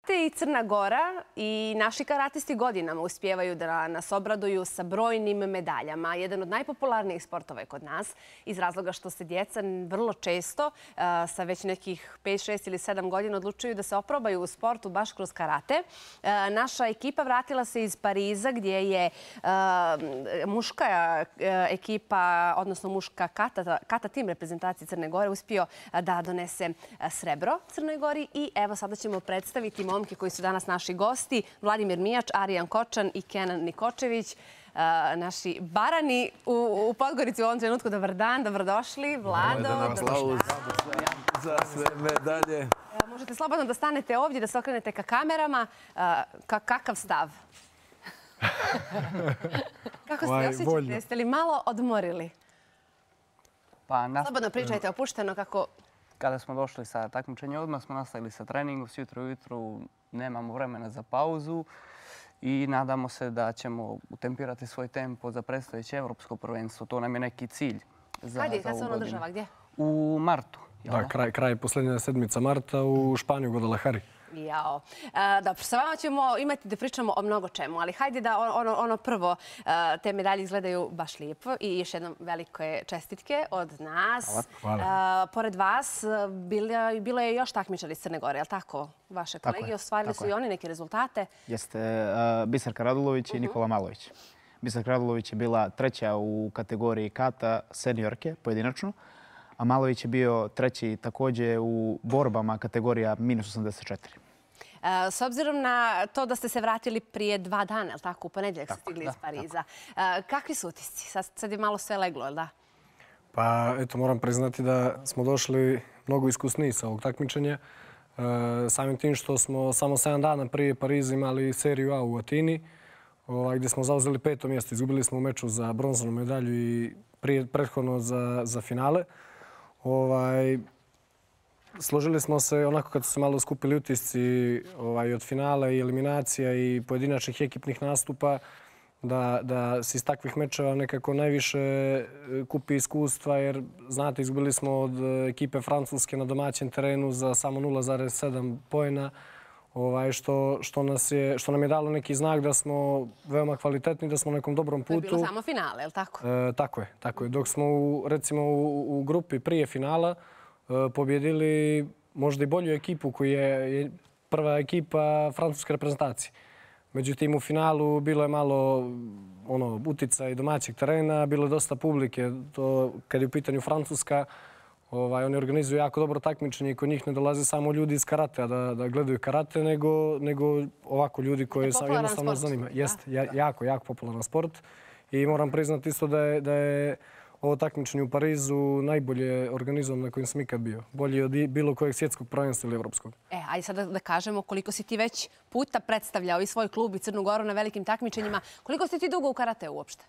Karate i Crna Gora i naši karatisti godinama uspijevaju da nas obraduju sa brojnim medaljama. Jedan od najpopularnijih sportova je kod nas iz razloga što se djeca vrlo često sa već nekih 5, 6 ili 7 godina odlučuju da se oprobaju u sportu baš kroz karate. Naša ekipa vratila se iz Pariza gdje je muška ekipa, odnosno muška kata tim reprezentacije Crne Gore uspio da donese srebro Crnoj Gori i evo sada ćemo predstaviti momke koji su danas naši gosti. Vladimir Mijač, Arijan Kočan i Kenan Nikočević. Naši barani u Podgorici u ovom trenutku. Dobar dan, dobrodošli. Vlado, za sve medalje. Možete slobodno da stanete ovdje, da se okrenete ka kamerama. Kakav stav? Kako se osjećate? Jeste li malo odmorili? Slobodno pričajte, opušteno kako... Kada smo došli sa takmičenja, odmah smo nastavili sa treningom. Sjutro ujutru nemamo vremena za pauzu i nadamo se da ćemo utempirati svoj tempo za predstojeće evropsko prvenstvo. To nam je neki cilj za ovu godinu. Kad se ono održava? Gdje? U martu. Da, kraj posljednja sedmica marta u Španiju, Guadalajari. Jao. Dobro, sa vama ćemo imati da pričamo o mnogo čemu, ali hajde da ono prvo, te medalje izgledaju baš lijepo i još jednom velike čestitke od nas. Hvala. Pored vas bilo je još takmičara iz Crne Gore, je li tako? Vaše kolege ostvarili su i oni neke rezultate. Jeste Biserka Radulović i Nikola Malović. Biserka Radulović je bila treća u kategoriji kata seniorke pojedinačno, a Malović je bio treći također u borbama kategorija -84. S obzirom na to da ste se vratili prije 2 dana, je li tako? U ponedjeljak ste stigli iz Pariza. Kakvi su utisci? Sad je malo sve leglo, je li da? Pa eto, moram priznati da smo došli mnogo iskusniji sa ovog takmičenja. Samim tim što smo samo 7 dana prije Pariza imali seriju A u Atini, gdje smo zauzeli 5. mjesto. Izgubili smo u meču za bronzanu medalju i prethodno za finale. Složili smo se onako kad su se malo skupili utisci od finala i eliminacija i pojedinačnih ekipnih nastupa da se iz takvih mečeva nekako najviše kupi iskustva jer znate izgubili smo od ekipe Francuske na domaćem terenu za samo 0,7 poena što nam je dalo neki znak da smo veoma kvalitetni, da smo na nekom dobrom putu. To je bilo samo finale, je li tako? Tako je. Dok smo recimo u grupi prije finala pobjedili možda i bolju ekipu koja je prva ekipa francuske reprezentacije. Međutim, u finalu bilo je malo uticaj domaćeg terena, bilo je dosta publike. Kad je u pitanju Francuska, oni organizuju jako dobro takmičenje i kod njih ne dolaze samo ljudi iz karatea da gledaju karate, nego ovako ljudi koji se jednostavno zanima. Jeste, jako popularan sport. I moram priznati isto da je ovo takmičenje u Parizu najbolje organizovano na kojem sam ikad bio. Bolje od bilo kojeg svjetskog prvenstva ili evropskog. Ajde sada da kažemo koliko si ti već puta predstavljao i svoj klub i Crnu Goru na velikim takmičenjima. Koliko si ti dugo u karateu uopšte?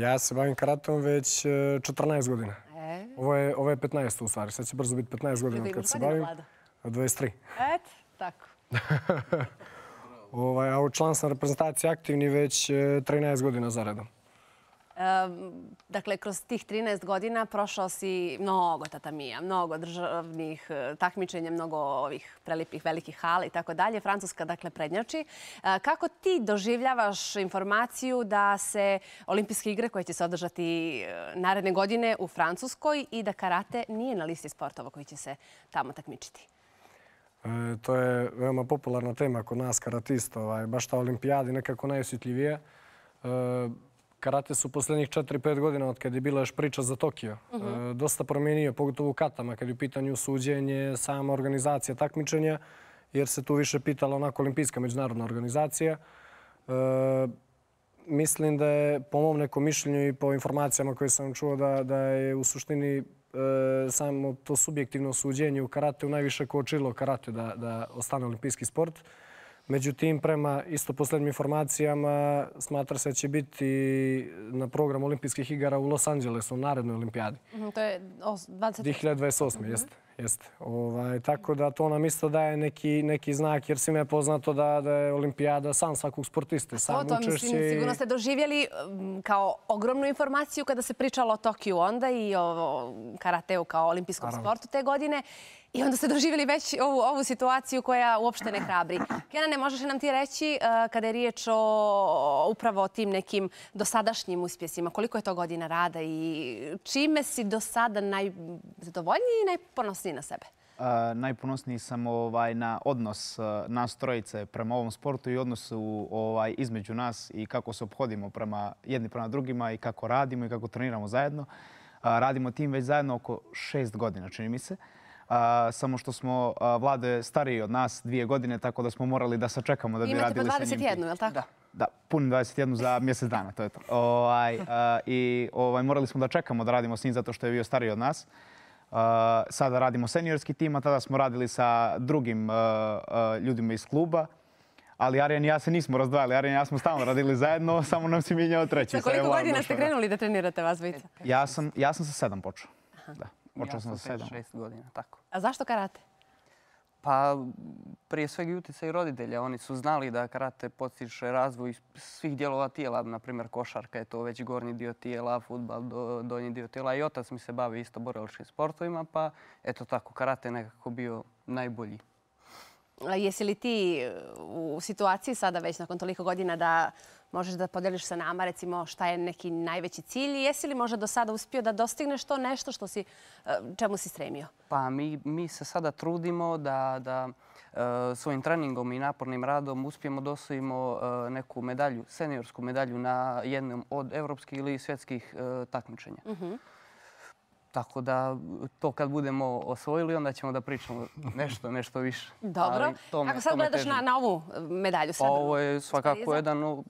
Ja se bavim karateom već 14 godina. Ovo je 15 u stvari. Sad će brzo biti 15 godina kad se bavim. 23. Eto, tako. A član sam reprezentacije aktivni već 13 godina za redom. Dakle, kroz tih 13 godina prošao si mnogo tatamija, mnogo državnih takmičenja, mnogo ovih prelipih velikih hala i tako dalje. Francuska, dakle, prednjači. Kako ti doživljavaš informaciju da se olimpijske igre koje će se održati naredne godine u Francuskoj i da karate nije na listi sportova koji će se tamo takmičiti? To je veoma popularna tema kod nas karatista. Baš ta olimpijada je nekako najosjetljivija. Karate su posljednjih 4-5 godina od kada je bila još priča za Tokio. Dosta promijenio, pogotovo u katama, kad je u pitanju suđenje, sama organizacija takmičenja, jer se tu više pitala onako olimpijska međunarodna organizacija. Mislim da je, po mom nekom mišljenju i po informacijama koje sam čuo, da je u suštini samo to subjektivno suđenje u karateu najviše kočilo karate da ostane olimpijski sport. Međutim, prema isto posljednjim informacijama, smatra se da će biti na programu olimpijskih igara u Los Angelesu, u narednoj olimpijadi. To je 2028. Jeste. Tako da to nam isto daje neki znak, jer svima je poznato da je olimpijada san svakog sportiste. To mislim, sigurno ste doživjeli kao ogromnu informaciju kada se pričalo o Tokiju onda i o karateu kao olimpijskom sportu te godine. I onda ste doživjeli već ovu situaciju koja uopšte ne hrabri. Kenane, možeš li nam ti reći kada je riječ upravo o tim nekim dosadašnjim uspjesima, koliko je to godina rada i čime si do sada najzadovoljniji i najponosniji na sebe? Najponosniji sam na odnos nas trojice prema ovom sportu i odnosu između nas i kako se ophodimo jedni prema drugima i kako radimo i kako treniramo zajedno. Radimo tim već zajedno oko 6 godina, čini mi se. Samo što smo Vlade stariji od nas 2 godine, tako da smo morali da sačekamo da bi radili sa njim. Imate po 21, je li tako? Da, punim 21 za mjesec dana, to je to. I morali smo da čekamo da radimo s njim zato što je bio stariji od nas. Sada radimo seniorski tim, a tada smo radili sa drugim ljudima iz kluba. Ali Arjan i ja se nismo razdvajali. Arjan i ja smo stalno radili zajedno, samo nam se mijenjao treći. Za koliko godina ste krenuli da trenirate vas dvojica? Ja sam sa 7 počeo. Da, počeo sam sa 7. 6 godina, tako. A zašto karate? Pa prije svega i utjecaj roditelja. Oni su znali da karate potiče razvoj svih dijelova tijela. Naprimjer, košarka je to već gornji dio tijela, fudbal donji dio tijela. I otac mi se bavi isto borilačkim sportovima, pa eto tako, karate je nekako bio najbolji. Jesi li ti u situaciji sada već nakon toliko godina da možeš da podeliš sa nama recimo šta je neki najveći cilj i jesi li možda do sada uspio da dostigneš to nešto čemu si stremio? Pa mi se sada trudimo da svojim treningom i napornim radom uspijemo da osvojimo neku medalju, seniorsku medalju na jednom od evropskih ili svjetskih takmičenja. Tako da to kad budemo osvojili, onda ćemo da pričamo nešto više. Dobro. Kako sad gledaš na ovu medalju? Ovo je svakako jedan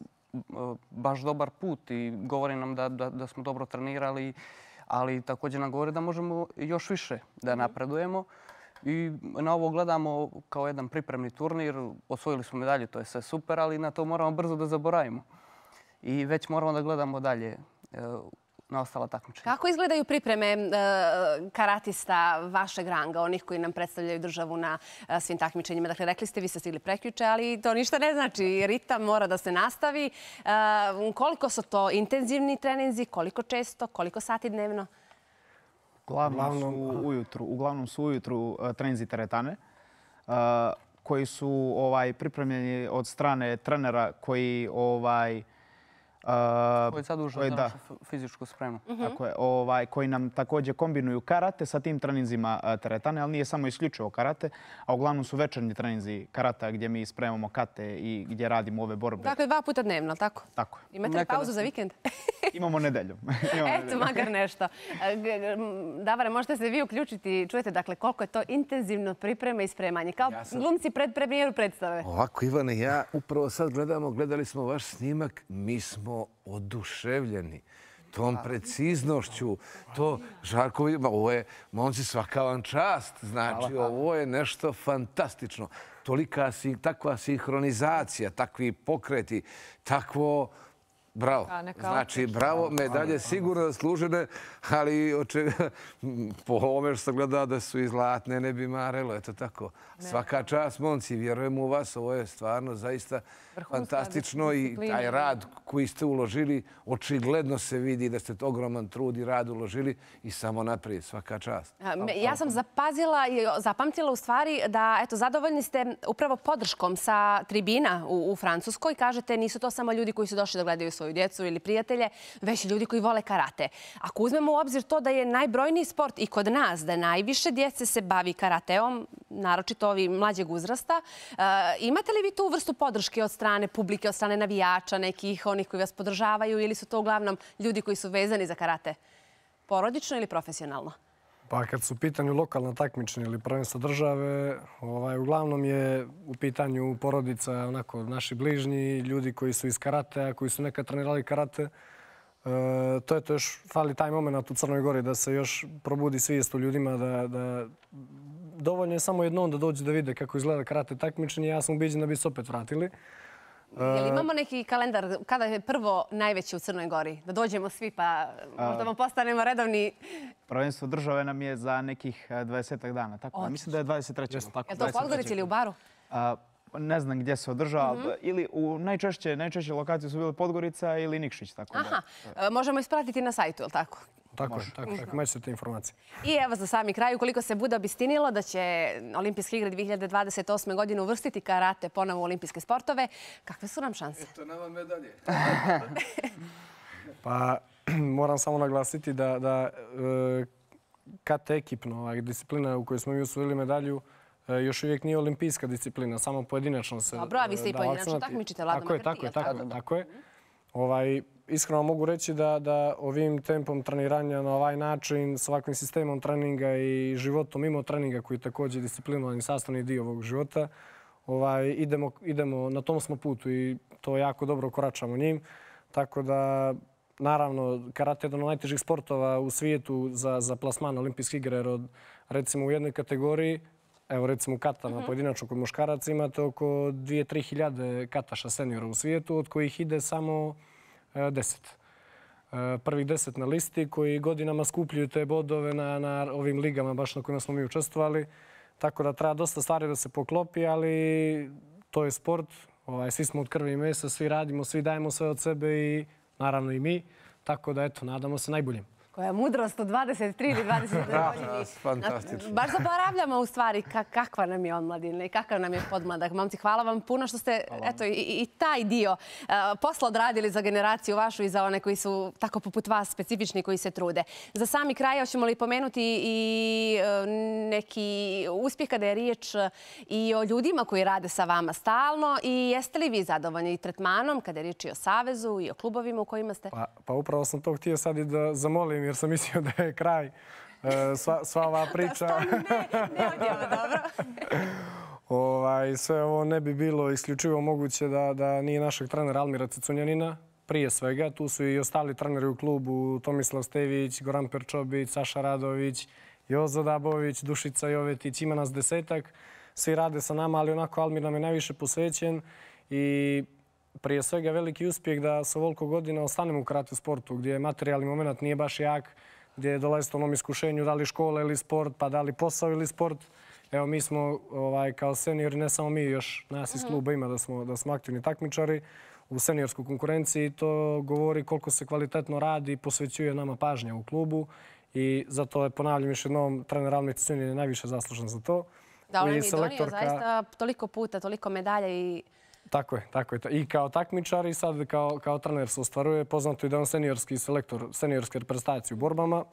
baš dobar put i govori nam da smo dobro trenirali, ali također nam govori da možemo još više da napredujemo. I na ovo gledamo kao jedan pripremni turnir. Osvojili smo medalju, to je sve super, ali na to moramo brzo da zaboravimo. I već moramo da gledamo dalje na ostala takmičenja. Kako izgledaju pripreme karatista vašeg ranga, onih koji nam predstavljaju državu na svim takmičenjima? Dakle, rekli ste, vi ste stigli prekjuče, ali to ništa ne znači. Ritam mora da se nastavi. Koliko su to intenzivni treninzi, koliko često, koliko sati dnevno? Uglavnom su ujutru treninzi teretane, koji su pripremljeni od strane trenera koji koji zadužuju za našu fizičku spremu. Tako je, koji nam također kombinuju karate sa tim treninzima teretane, ali nije samo isključivo karate, a uglavnom su večernji treninzi karata gdje mi spremamo kate i gdje radimo ove borbe. Dakle, 2 puta dnevno, tako? Tako je. Imate li pauzu za vikend? Imamo nedelju. Eto, makar nešto. Davore, možete se vi uključiti. Čujete, dakle, koliko je to intenzivno priprema i spremanje. Kao glumci pred premijeru predstave. Ovako, Ivane, ja upravo sad gledali smo vaš snimak, mi smo oduševljeni tom preciznošću. To, Žarko, ovo je, momci, svaka vam čast. Znači, ovo je nešto fantastično. Takva sinhronizacija, takvi pokreti, takvo... Bravo. Znači, bravo, medalje sigurno zaslužene, ali po ovome što sam gledao da su i zlatne, ne bi marelo. Eto tako. Svaka čast, momci, vjerujem u vas. Ovo je stvarno zaista fantastično i taj rad koji ste uložili, očigledno se vidi da ste ogroman trud i rad uložili i samo naprijed. Svaka čast. Ja sam zapamtila u stvari da, eto, zadovoljni ste upravo podrškom sa tribina u Francuskoj. Kažete, nisu to samo ljudi koji su došli da gledaju svoju djecu ili prijatelje, već ljudi koji vole karate. Ako uzmemo u obzir to da je najbrojniji sport i kod nas, da najviše djece se bavi karateom, naročito ovi mlađeg uzrasta, imate li vi tu vrstu podrške od strane publike, od strane navijača, nekih onih koji vas podržavaju ili su to uglavnom ljudi koji su vezani za karate? Porodično ili profesionalno? Pa kad su u pitanju lokalna takmičenja ili prvenstva države, uglavnom je u pitanju porodica, onako, naši bližnji, ljudi koji su iz karatea, koji su nekad trenirali karate. To je to, još fali taj moment u Crnoj Gori da se još probudi svijest u ljudima, da dovoljno je samo jednom da dođu da vide kako izgleda karate takmičenje. Ja sam ubiđen da bi se opet vratili. Jel imamo neki kalendar kada je prvo najveće u Crnoj Gori? Da dođemo svi pa možda vam postanemo redovni... Prvenstvo države nam je za nekih 20 dana. Tako, mislim da je 23. Je to u Podgorici ili u Baru? Ne znam gdje se održava. Ili u najčešće lokacije su bile Podgorica ili Nikšić. Aha, možemo ispratiti na sajtu, je li tako? Tako je, imat ćete te informacije. I evo za sami kraj, ukoliko se bude obistinilo da će Olimpijske igre 2028. godine uvrstiti karate ponovo u olimpijske sportove, kakve su nam šanse? Eto nama medalje. Pa moram samo naglasiti da KT ekipno, disciplina u kojoj smo mi osvojili medalju, još uvijek nije olimpijska disciplina, samo pojedinačno se... Dobro, a vi ste i pojedinačno takmičite, Vlado Makar. Tako je. Iskreno mogu reći da ovim tempom treniranja na ovaj način, s ovakvim sistemom treninga i životom mimo treninga, koji je također disciplinovan sastavni dio ovog života, idemo, na tom smo putu i to jako dobro koračamo njim. Tako da, naravno, karate je jedan od najtežih sportova u svijetu za plasman olimpijskih igre, jer recimo u jednoj kategoriji, evo recimo katama pojedinačno kod muškaraca imate oko 2-3 hiljade kataša seniora u svijetu, od kojih ide samo 10. Prvih 10 na listi koji godinama skupljuju te bodove na ovim ligama baš na kojima smo mi učestvovali. Tako da treba dosta stvari da se poklopi, ali to je sport. Svi smo od krvi i mesa, svi radimo, svi dajemo sve od sebe i naravno i mi. Tako da eto, nadamo se najboljem. Koja mudrost u 23 ili 22 godini. Fantastično. Baš zaboravljamo u stvari kakva nam je omladina i kakav nam je podmladak. Momci, hvala vam puno što ste i taj dio posla odradili za generaciju vašu i za one koji su tako poput vas specifični koji se trude. Za sami kraj hoćemo li pomenuti i neki uspjeh kada je riječ i o ljudima koji rade sa vama stalno i jeste li vi zadovoljni tretmanom kada je riječ i o Savezu i o klubovima u kojima ste? Pa upravo sam to htio sad i da zamolim jer sam mislio da je kraj sva ova priča. Ne odjeva, dobro. Sve ovo ne bi bilo isključivo moguće da nije našeg trenera Almira Cecunjanina. Prije svega, tu su i ostali treneri u klubu, Tomislav Stević, Goran Perčobić, Saša Radović, Jozo Dabović, Dušica Jovetić, ima nas 10-ak. Svi rade sa nama, ali onako Almir nam je najviše posvećen i prije svega veliki uspjeh da sa ovoliko godina ostanemo u karate sportu, gdje materijalni moment nije baš jak, gdje dolazite onom iskušenju da li škola ili sport, pa da li posao ili sport. Evo, mi smo kao seniori, ne samo mi, još nas iz kluba ima da smo aktivni takmičari u seniorskoj konkurenciji. To govori koliko se kvalitetno radi i posvećuje nama pažnja u klubu i zato je, ponavljam još jednom, trener Almir Cecunjanin je najviše zaslužan za to. Da, on je donio zaista toliko puta, toliko medalja i... Tako je. I kao takmičar i sad kao trener se ostvaruje. Poznato je da je on seniorski selektor, seniorske reprezentacije u borbama.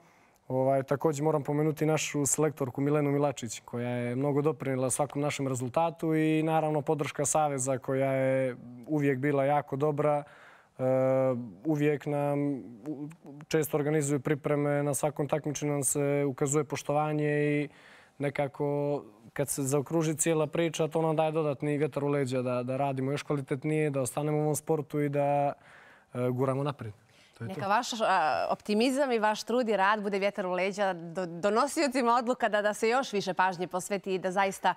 Također moram pomenuti našu selektorku Milenu Milačić, koja je mnogo doprinijela svakom našem rezultatu i naravno podrška Saveza koja je uvijek bila jako dobra. Uvijek nam često organizuju pripreme, na svakom takmičenju nam se ukazuje poštovanje i nekako kad se zaokruži cijela priča, to nam daje dodatni vjetar u leđa da radimo još kvalitetnije, da ostanemo u ovom sportu i da guramo naprijed. Neka vaš optimizam i vaš trud i rad bude vjetar u leđa donosiocima odluka da se još više pažnje posveti i da zaista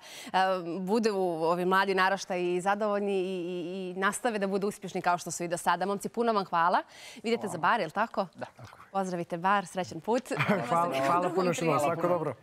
budu ovi mladi naraštaji zadovoljni i nastave da budu uspješni kao što su i do sada. Momci, puno vam hvala. Vidite za bar, je li tako? Da. Pozdravite bar, srećan put. Hvala puno što vam, svako dobro.